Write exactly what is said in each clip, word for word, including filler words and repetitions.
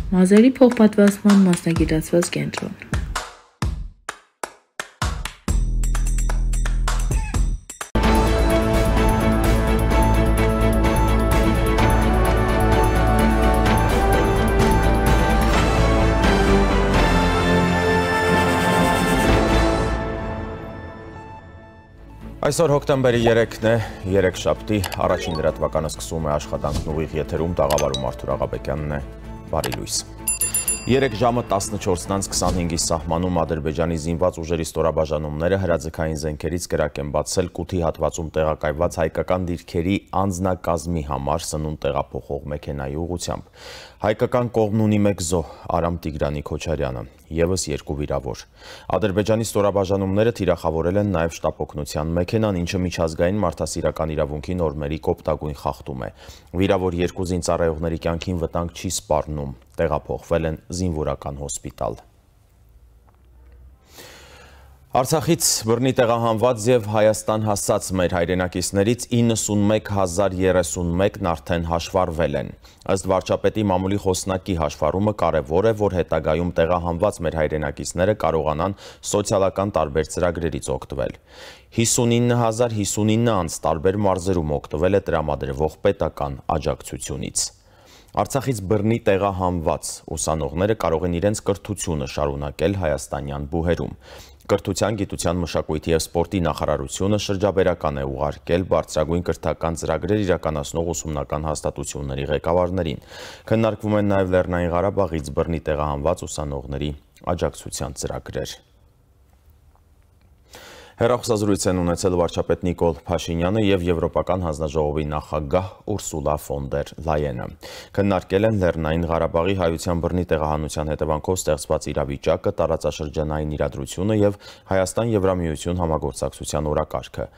Մազերի փոխպատվաստման մասնագիտացված կենտրոն։ Այսօր հոկտեմբերի երեքն է, երեքշաբթի, առաջին լրատվականը սկսում է աշխատանքն ուղիղ եթերում, տաղավարում Արթուր Աղաբեկյանն է, բարի լույս։ Երեք ժամը տասնչորսն անց քսանհինգի սահմանում Ադրբեջանի զինված ուժերի ստորաբաժանումները հրաձգային զենքերից կրակ են բացել Կութի հատվածում տեղակայված հայկական դիրքերի անձնակազմի համար սնունդ տեղափոխող մեքենայի ուղղությամբ։ Հայկական կողմն ունի մեկ զոհ, Արամ Տիգրանի Քոչարյանը, ևս երկու վիրավոր։ Ադրբեջանի ստորաբաժանումները թիրախավորել են նաև շտապօգնության մեքենան, ինչը միջազգային մարդասիրական իրավունքի նորմերի կոպտագույն խախտում է։ Վիրավոր երկու զինծառայողների կյանքին վտանգ չի սպառնում, տեղափոխվել են զինվորական հոսպիտալ։ Արցախից բռնի տեղահանված և Հայաստան հասած մեր հայրենակիցներից իննսունմեկ հազար երեսունմեկն արդեն հաշվառվել են։ Ըստ վարչապետի մամուլի խոսնակի հաշվառումը կարևոր է, որ հետագայում տեղահանված մեր հայրենակիցները կարողանան սոցիալական տարբեր ծրագրերից օգտվել։ հիսունինը հազար հիսունինը անց տարբեր մարզերում օգտվել է տրամադրվող պետական աջակցությունից։ Արցախից բռնի տեղահանված ուսանողները կարող են իրենց կրթությունը շարունակել հայաստանյան բուհերում։ Կրթության, գիտության, մշակույթի և սպորտի նախարարությունը շրջաբերական է ուղարկել բարձրագույն կրթական ծրագրեր իրականացնող ուսումնական հաստատությունների ղեկավարներին։ Քննարկվում են նաև Լեռնային Ղարաբաղից բռնի տեղահանված ուսանողների աջակցության ծրագրեր։ Հեռախոսազրույց են ունեցել վարչապետ Նիկոլ Փաշինյանը և Եվրոպական հանձնաժողովի նախագահ Ուրսուլա ֆոն դեր Լայենը։ Քննարկել են Լեռնային Ղարաբաղի հայության բռնի տեղահանության հետևանքով ստեղծված իրավիճակը, տարածաշրջանային իրադրությունը և Հայաստան-Եվրամիություն համագործակցության օրակարգը։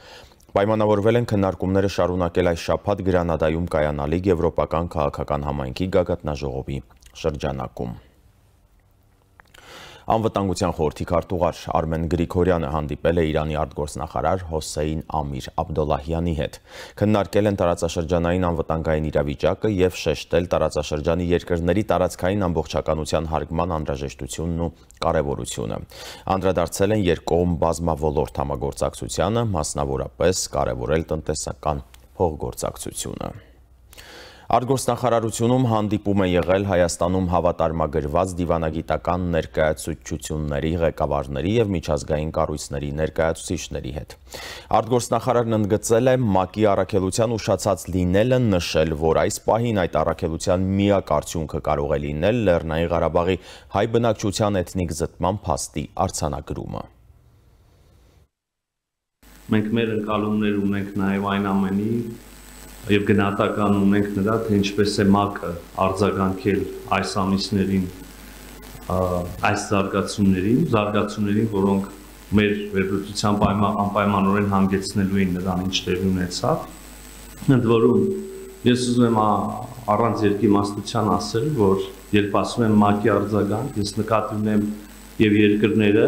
Պայմանավորվել են քննարկումները շարունակել այս շաբաթ Գրանադայում կայանալիք Եվրոպական քաղաքական համայնքի գագաթնաժողովի շրջանակում։ Անվտանգության խորհրդի քարտուղար Արմեն Գրիգորյանը հանդիպել է Իրանի արտգործնախարար Հոսեյն Ամիր Աբդոլլահյանի հետ։ Քննարկել են տարածաշրջանային անվտանգային իրավիճակը և շեշտել տարածաշրջանի երկրների տարածքային ամբողջականության հարգման անհրաժեշտությունն ու կարևորությունը։ Անդրադարձել են երկկողմ բազմաոլորտ համագործակցությանը, մասնավորապես կարևորել տնտեսական փոխգործակցությունը։ Արտգործնախարարությունում հանդիպում է եղել Հայաստանում հավատարմագրված դիվանագիտական ներկայացուցչությունների ղեկավարների և միջազգային կառույցների ներկայացուցիչների հետ։ Արտգործնախարարն ընդգծել է ՄԱԿ-ի առաքելության ուշացած լինելը, նշել, որ այս պահին այդ առաքելության միակ արդյունքը կարող է լինել Լեռնային Ղարաբաղի հայ բնակչության էթնիկ զտման փաստի արձանագրումը։ Մենք մեր ընկալումներ ունենք նաև այն ամենի և գնահատական ունենք նրա, թե ինչպես է ՄԱԿ-ը արձագանքել այս ամիսներին այս զարգացումներին, զարգացումներին, որոնք մեր վերլուծության անպայմանորեն հանգեցնելու են նրան, ինչ տեղի ունեցավ։ Ընդ որում, ես ուզում եմ առանց երկիմաստության ասել, որ երբ ասում եմ ՄԱԿ-ի արձագանք, ես նկատի ունեմ և երկրները,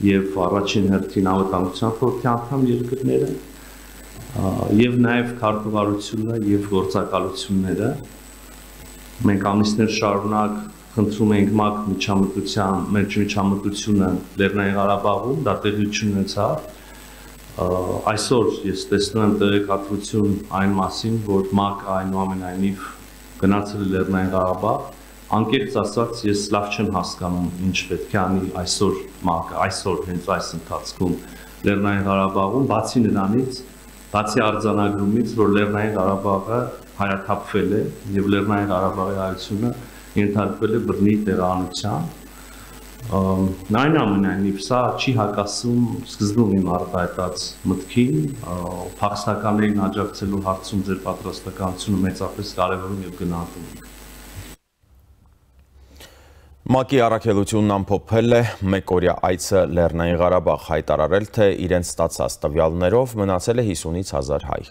և առաջին հերթին Անվտանգության խորհրդի անդամ երկրները, և նաև քարտուղարությունը և գործակալությունները։ Մենք ամիսներ շարունակ խնդրում ենք ՄԱԿ միջամտության, մեր միջամտությունը Լեռնային Ղարաբաղում, դա տեղություն ունեցավ։ Այսօր ես տեսնում եմ տեղեկատվություն այն մասին, որ ՄԱԿ-ը այնուամենայնիվ գնացել է Լեռնային Ղարաբաղ։ Անկեղծ ասած, ես լավ չեմ հասկանում, ինչ պետք է անի այսօր ՄԱԿ-ը, այսօր հենց այս ընթացքում Լեռնային Ղարաբաղում, բացի նրանից, բացի արձանագրումից, որ Լեռնային Ղարաբաղը հայաթափվել է և Լեռնային Ղարաբաղի հայությունը ենթարկվել է բռնի տեղահանության։ Այնուամենայնիվ, սա չի հակասում սկզբում իմ արտահայտած մտքին, փախստականներին աջակցելու հարցում ձեր պատրաստականությունը մեծապես կարևորում և գնահատում ենք։ ՄԱԿ-ի առաքելությունն ամփոփել է մեկօրյա այցը Լեռնային Ղարաբաղ, հայտարարել, թե իրենց ստացած տվյալներով մնացել է հիսունից հազար հայ։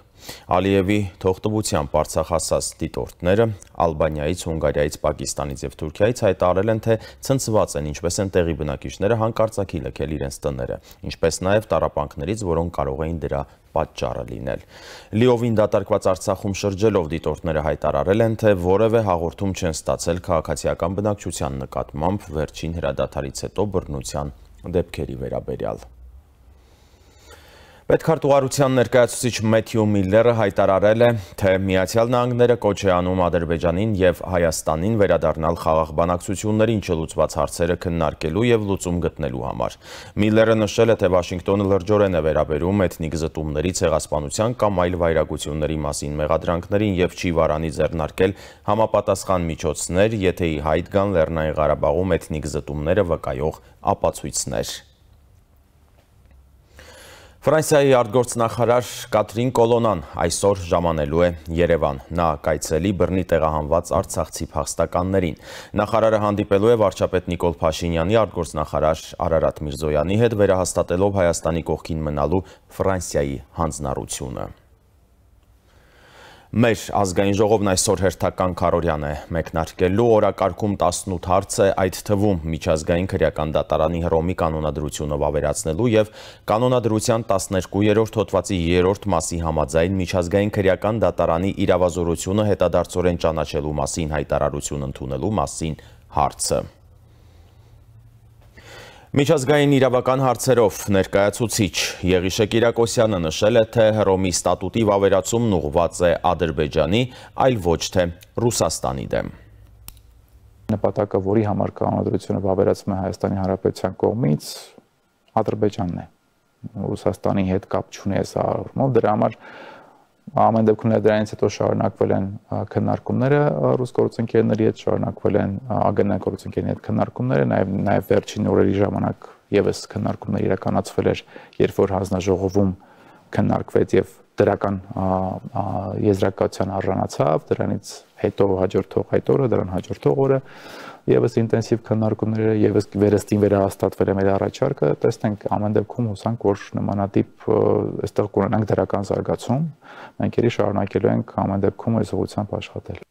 Ալիևի թողտվությամբ Արցախ հասած դիտորդները Ալբանիայից, Հունգարիայից, Պակիստանից և Թուրքիայից հայտարարել են, թե ցնցված են, ինչպես են տեղի բնակիչները հանկարծակի լքել իրենց տները, ինչպես նաև տառապանքներից, որոնք կարող էին դրա պատճառը լինել։ Լիովին դատարկված Արցախում շրջելով դիտորդները հայտարարել են, թե որևէ հաղորդում չեն ստացել քաղաքացիական բնակչության նկատմամբ վերջին հրադադարից հետո բռնության դեպքերի վերաբերյալ։ Պետքարտուղարության ներկայացուցիչ Մեթյու Միլլերը հայտարարել է, թե Միացյալ Նահանգները կոչ է անում Ադրբեջանին և Հայաստանին վերադառնալ խաղաղ բանակցություններին չլուծված հարցերը քննարկելու և լուծում գտնելու համար։ Միլլերը նշել է, թե Վաշինգտոնը լրջորեն է վերաբերում էթնիկ զտումների, ցեղասպանության կամ այլ վայրագությունների մասին մեղադրանքներին և չի վարանի ձեռնարկել համապատասխան միջոցներ, եթե ի հայտ գան Լեռնային Ղարաբաղում էթնիկ զտումները վկայող ապացույցներ։ Ֆրանսիայի արտգործնախարար Կատրին Կոլոնան այսօր ժամանելու է Երևան։ Նա կայցելի բռնի տեղահանված արցախցի փախստականներին։ Նախարարը հանդիպելու է վարչապետ Նիկոլ Փաշինյանի, արտգործնախարար Արարատ Միրզոյանի հետ, վերահաստատելով Հայաստանի կողքին մնալու Ֆրանսիայի հանձնառությունը։ Մեր ազգային ժողովն այսօր հերթական քարոզյան է մեկնարկելու, օրակարգում տասնութ հարց է, այդ թվում միջազգային քրեական դատարանի Հռոմի կանոնադրությունը վավերացնելու և կանոնադրության տասներկուերորդ հոդվածի երրորդ մասի համաձայն միջազգային քրեական դատարանի իրավազորությունը հետադարձորեն ճանաչելու մասին հայտարարություն ընդունելու մասին հարցը։ Միջազգային իրավական հարցերով ներկայացուցիչ Եղիշե Կիրակոսյանը նշել է, թե Հռոմի ստատուտի վավերացումն ուղղված է Ադրբեջանի, այլ ոչ թե Ռուսաստանի դեմ։ Նպատակը, որի համար կանոնադրությունը վավերացվում է Հայաստանի Հանրապետության կողմից, Ադրբեջանն է։ Ռուսաստանի հետ կապ չունի այս առումով, դրա համար ամեն դեպքում դրանից հետո շարունակվել են քննարկումները ռուս գործընկերների հետ, շարունակվել են ԱԳՆ գործընկերների հետ քննարկումները, նաև նաև վերջին օրերի ժամանակ եւս քննարկումներ իրականացվել էր, երբ որ հանձնաժողովում քննարկվեց եւ դրական եզրակացության արժանացավ, դրանից հետո հաջորդող այդ օրը, դրան հաջորդող օրը եւս ինտենսիվ քննարկումները, եւս վերստին վերահաստատվել է մեր առաջարկը, տեսնենք ամեն դեպքում հուսանք, որ նմանատիպ այստեղ կունենանք դրական զարգացում, մենք ելի շարունակելու ենք ամեն դեպքում այս ուղղությամբ աշխատել։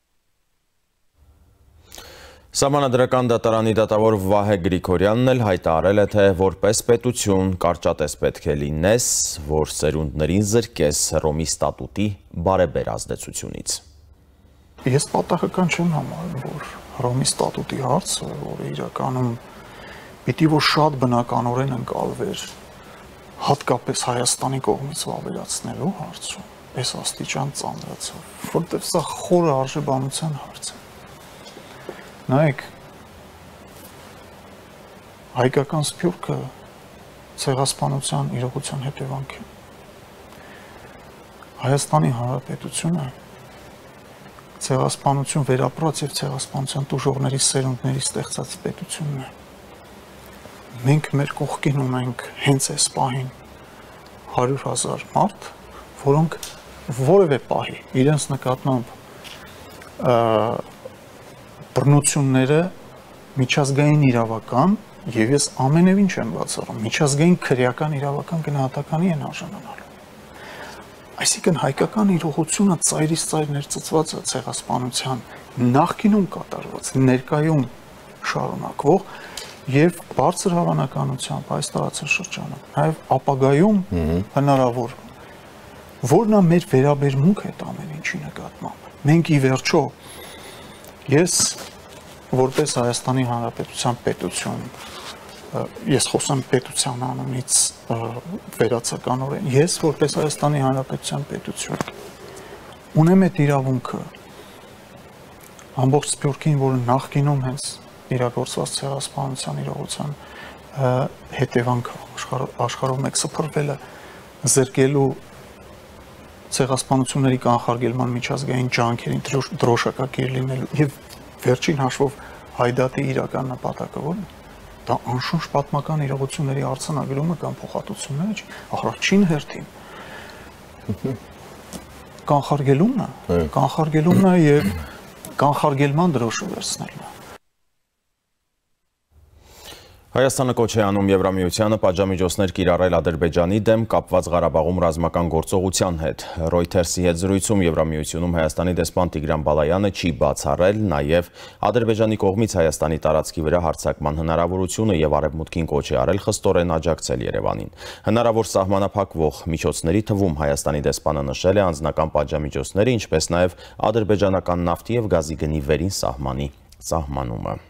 Սահմանադրական դատարանի դատավոր Վահե Գրիգորյանն էլ հայտարարել է, թե որպես պետություն կարճատես պետք է լինես, որ սերունդներին զրկես Հռոմի ստատուտի բարեբեր ազդեցությունից։ Ես պատահական չեմ համարում, որ Հռոմի ստատուտի հարցը, որը իրականում պիտի որ շատ բնականորեն ընկալվեր հատկապես Հայաստանի կողմից վավերացնելու հարցում, այս աստիճան ծանրացավ, որտեղ սա խորը արժեբանության հարց է։ Նայեք, հայկական սփյուռքը ցեղասպանության իրողության հետևանք է։ Հայաստանի Հանրապետությունը ցեղասպանություն վերապրած եւ ցեղասպանության տուժողների սերունդների ստեղծած պետությունն է։ Մենք մեր կողքին ունենք հենց այս պահին հարյուր հազար մարդ, որոնք որևէ պահի իրենց նկատմամբ բռնությունները միջազգային իրավական եւ ես ամենևին չեմ բացառում, միջազգային քրեական իրավական գնահատականի են արժանանալու։ Այսինքն հայկական իրողությունը ծայրից ծայր ներծծված է ցեղասպանության նախկինում կատարված, ներկայում շարունակվող եւ բարձր հավանականությամբ այս տարածաշրջանում, նաեւ ապագայում հնարավոր, որն է մեր վերաբերմունքը այդ ամեն ինչի նկատմամբ։ Մենք ի վերջո ես որպես Հայաստանի Հանրապետության պետություն, ես խոսեմ պետության անունից վերացականորեն, ես որպես Հայաստանի Հանրապետության պետություն ունեմ այդ իրավունքը ամբողջ սփյուռքին, որը նախկինում հենց իրագործված ցեղասպանության իրողության հետևանքը աշխարհով մեկ սփռվելը զրկելու ցեղասպանությունների կանխարգելման միջազգային ջանքերին դրոշակակիր լինելու եւ վերջին հաշվով հայդատի իրական նպատակը ո՞րն է։ Դա անշուշտ պատմական իրողությունների արձանագրումը կամ փոխհատուցումները չի, առաջին հերթին կանխարգելումն է, կանխարգելումն է եւ կանխարգելման դրոշը վերցնելն է։ Հայաստանը կոչ է անում Եվրամիությանը պատժամիջոցներ կիրառել Ադրբեջանի դեմ կապված Ղարաբաղում ռազմական գործողության հետ։ Reuters-ի հետ զրույցում Եվրամիությունում Հայաստանի դեսպան Տիգրան Բալայանը չի բացառել նաև Ադրբեջանի կողմից Հայաստանի տարածքի վրա հարձակման հնարավորությունը եւ Արևմուտքին կոչ է արել խստորեն աջակցել Երևանին։ Հնարավոր սահմանափակվող միջոցների թվում Հայաստանի դեսպանը նշել է անձնական պատժամիջոցները, ինչպես նաև ադրբեջանական նավթի եւ գազի գնի վերին սահմանի սահմանումը։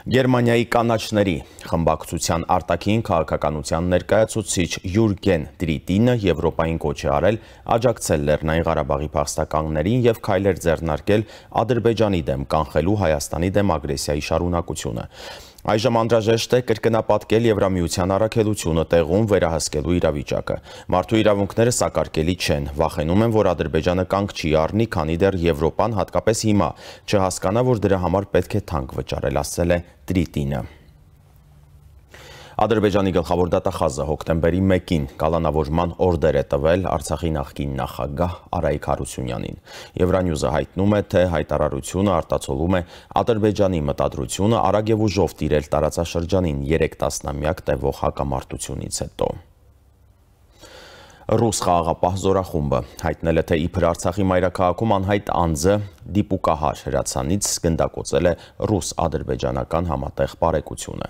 Գերմանիայի կանաչների խմբակցության արտաքին քաղաքականության ներկայացուցիչ Յուրգեն Տրիտինը Եվրոպային կոչ է արել աջակցել Լեռնային Ղարաբաղի փախստականներին եւ քայլեր ձեռնարկել Ադրբեջանի դեմ կանխելու Հայաստանի դեմ ագրեսիայի շարունակությունը։ Այժմ անհրաժեշտ է կրկնապատկել Եվրամիության առաքելությունը տեղում վերահսկելու իրավիճակը։ Մարդու իրավունքները սակարկելի չեն, վախենում են, որ Ադրբեջանը կանգ չի առնի, քանի դեռ Եվրոպան հատկապես հիմա չհասկանա, որ դրա համար պետք է թանկ վճարել, ասել է Տրիտինը։ Ադրբեջանի գլխավոր դատախազը հոկտեմբերի մեկին կալանավորման օրդեր է տվել Արցախի նախկին նախագահ Արայիկ Հարությունյանին։ Եվրանյուզը հայտնում է, թե հայտարարությունը արտացոլում է Ադրբեջանի մտադրությունը արագ եւ ուժով տիրել տարածաշրջանին երեք տասնամյակ տևող հակամարտությունից հետո։ Ռուս խաղաղապահ զորախումբը հայտնել է, թե իբր Արցախի մայրաքաղաքում անհայտ անձը դիպուկահար հրացանից գնդակոծել է ռուս-ադրբեջանական համատեղ բարեկությունը։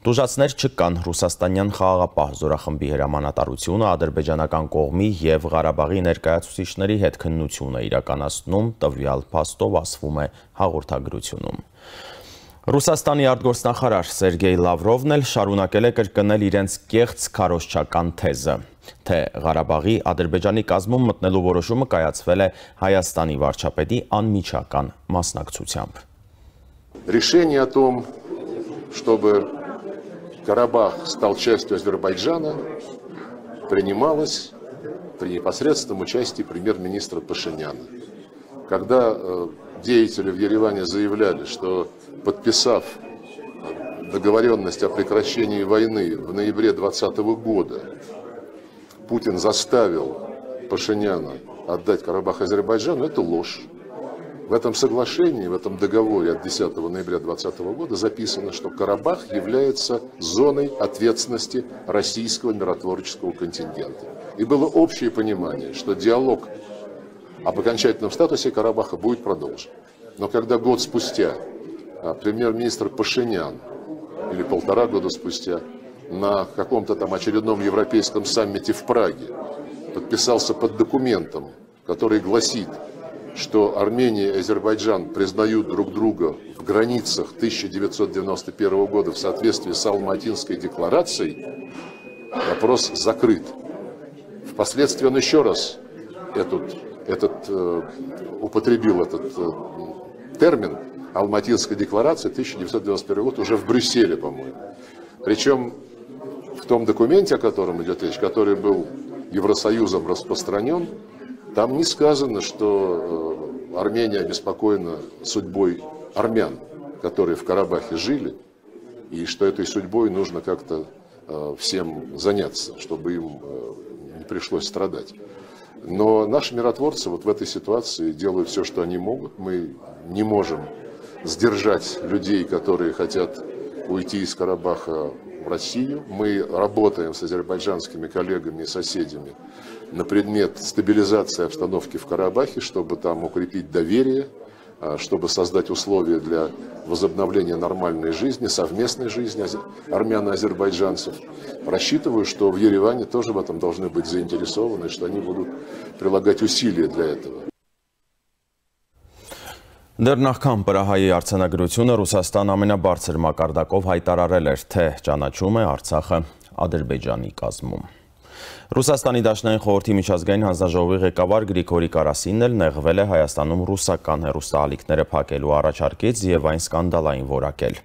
Տուժածներ չկան, ռուսաստանյան խաղաղապահ զորախմբի հրամանատարությունը ադրբեջանական կողմի եւ Ղարաբաղի ներկայացուցիչների հետ քննություն է իրականացնում, տվյալ փաստով ասվում է հաղորդագրությունում։ Ռուսաստանի արտգործնախարար Սերգեյ Լավրովն էլ շարունակել է կրկնել իրենց կեղծ քարոզչական թեզը, թե Ղարաբաղի Ադրբեջանի կազմում մտնելու որոշումը կայացվել է Հայաստանի վարչապետի անմիջական մասնակցությամբ։ Решение о том, чтобы Карабах стал частью Азербайджана, принималось при непосредственном участии премьер-министра Пашиняна. Когда э, деятели в Ереване заявляли, что подписав договоренность о прекращении войны в ноябре двадцатого года, Путин заставил Пашиняна отдать Карабах Азербайджану, это ложь. В этом соглашении, в этом договоре от десятого ноября двадцатого года записано, что Карабах является зоной ответственности российского миротворческого контингента. И было общее понимание, что диалог об окончательном статусе Карабаха будет продолжен. Но когда год спустя премьер-министр Пашинян, или полтора года спустя, на каком-то там очередном европейском саммите в Праге подписался под документом, который гласит, что Армения и Азербайджан признают друг друга в границах тысяча девятьсот девяносто первого года в соответствии с Алматинской декларацией, вопрос закрыт. Впоследствии он еще раз этот, этот, э, употребил этот э, термин Алматинской декларации тысяча девятьсот девяносто первого года уже в Брюсселе, по-моему. Причем в том документе, о котором идет речь, который был Евросоюзом распространен, там не сказано, что э, Армения обеспокоена судьбой армян, которые в Карабахе жили, и что этой судьбой нужно как-то э, всем заняться, чтобы им э, не пришлось страдать. Но наши миротворцы вот в этой ситуации делают все, что они могут. Мы не можем сдержать людей, которые хотят уйти из Карабаха в Россию. Мы работаем с азербайджанскими коллегами и соседями на предмет стабилизации обстановки в Карабахе, чтобы там укрепить доверие, чтобы создать условия для возобновления нормальной жизни, совместной жизни армян и азербайджанцев. Рассчитываю, что в Ереване тоже в этом должны быть заинтересованы, что они будут прилагать усилия для этого. Դեռ նախքան Պրահայի արձանագրությունը Ռուսաստան ամենաբարձր մակարդակով հայտարարել էր, թե ճանաչում է Արցախը Ադրբեջանի կազմում։ Ռուսաստանի Դաշնային խորհրդի միջազգային հանձնաժողովի ղեկավար Գրիգորի Կարասինն էլ նեղվել է Հայաստանում ռուսական հեռուստաալիքները փակելու առաջարկից եւ այն սկանդալային որակել։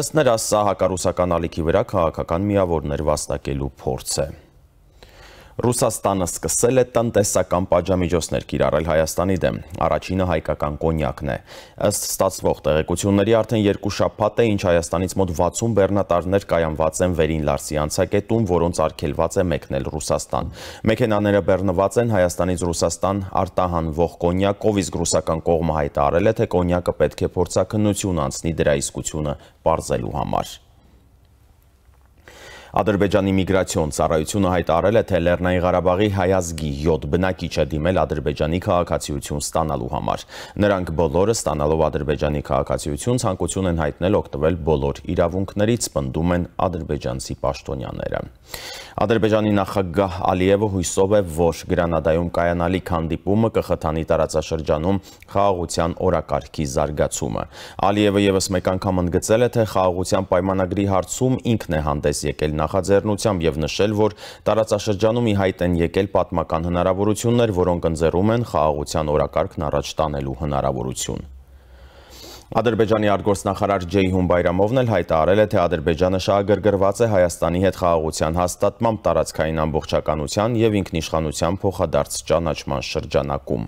Ըստ նրա, սա հակառուսական ալիքի վրա քաղաքական միավորներ վաստակելու փորձ է։ Ռուսաստանը սկսել է տնտեսական պատժամիջոցներ կիրառել Հայաստանի դեմ, առաջինը հայկական կոնյակն է։ Ըստ ստացվող տեղեկությունների արդեն երկու շաբաթ է, ինչ Հայաստանից մոտ վաթսուն բեռնատարներ կայանված են Վերին Լարսի անցակետում, որոնց արգելված է մեկնել Ռուսաստան։ Մեքենաները բեռնված են Հայաստանից Ռուսաստան արտահանվող կոնյակով, իսկ ռուսական կողմը հայտարարել է, թե կոնյակը պետք է փորձաքննություն անցնի դրա իսկությունը պարզելու համար։ Ադրբեջանի միգրացիոն ծառայությունը հայտարարել է, թե Լեռնային Ղարաբաղի հայազգի յոթ բնակիչ է դիմել Ադրբեջանի քաղաքացիություն ստանալու համար։ Նրանք բոլորը ստանալով Ադրբեջանի քաղաքացիություն ցանկություն են հայտնել օգտվել բոլոր իրավունքներից, պնդում են ադրբեջանցի պաշտոնյաները։ Ադրբեջանի նախագահ Ալիևը հույսով է, որ Գրանադայում կայանալիք հանդիպումը կխթանի տարածաշրջանում խաղաղության օրակարգի զարգացումը։ Ալիևը ևս մեկ անգամ ընդգծել է, թե խաղաղության պայմանագրի հարցում ինքն է հանդես եկել նախաձեռնությամբ եւ նշել, որ տարածաշրջանում ի հայտ են եկել պատմական հնարավորություններ, որոնք ընձեռում են խաղաղության օրակարգն առաջ տանելու հնարավորություն։ Ադրբեջանի արտգործնախարար Ջեյհուն Բայրամովն էլ հայտարարել է, թե Ադրբեջանը շահագրգռված է Հայաստանի հետ խաղաղության հաստատմամբ տարածքային ամբողջականության եւ ինքնիշխանության փոխադարձ ճանաչման շրջանակում։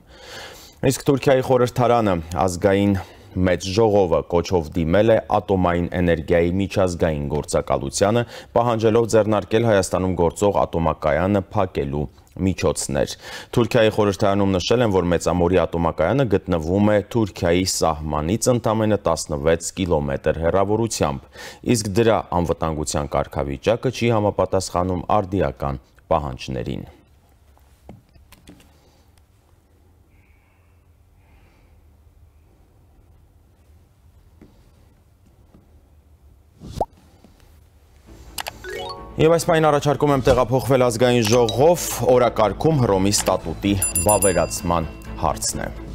Իսկ Թուրքիայի խորհրդարանը ազգային մեծ ժողովը կոչով դիմել է ատոմային էներգիայի միջազգային գործակալությանը, պահանջելով ձեռնարկել Հայաստանում գործող ատոմակայանը փակելու միջոցներ։ Թուրքիայի խորհրդարանում նշել են, որ Մեծամորի ատոմակայանը գտնվում է Թուրքիայի սահմանից ընդամենը տասնվեց կիլոմետր հեռավորությամբ, իսկ դրա անվտանգության կարգավիճակը չի համապատասխանում արդիական պահանջներին։ Եվ այս պայն առաջարկում եմ տեղափոխվել ազգային ժողով, օրակարգում Հռոմի ստատուտի վավերացման հարցն է։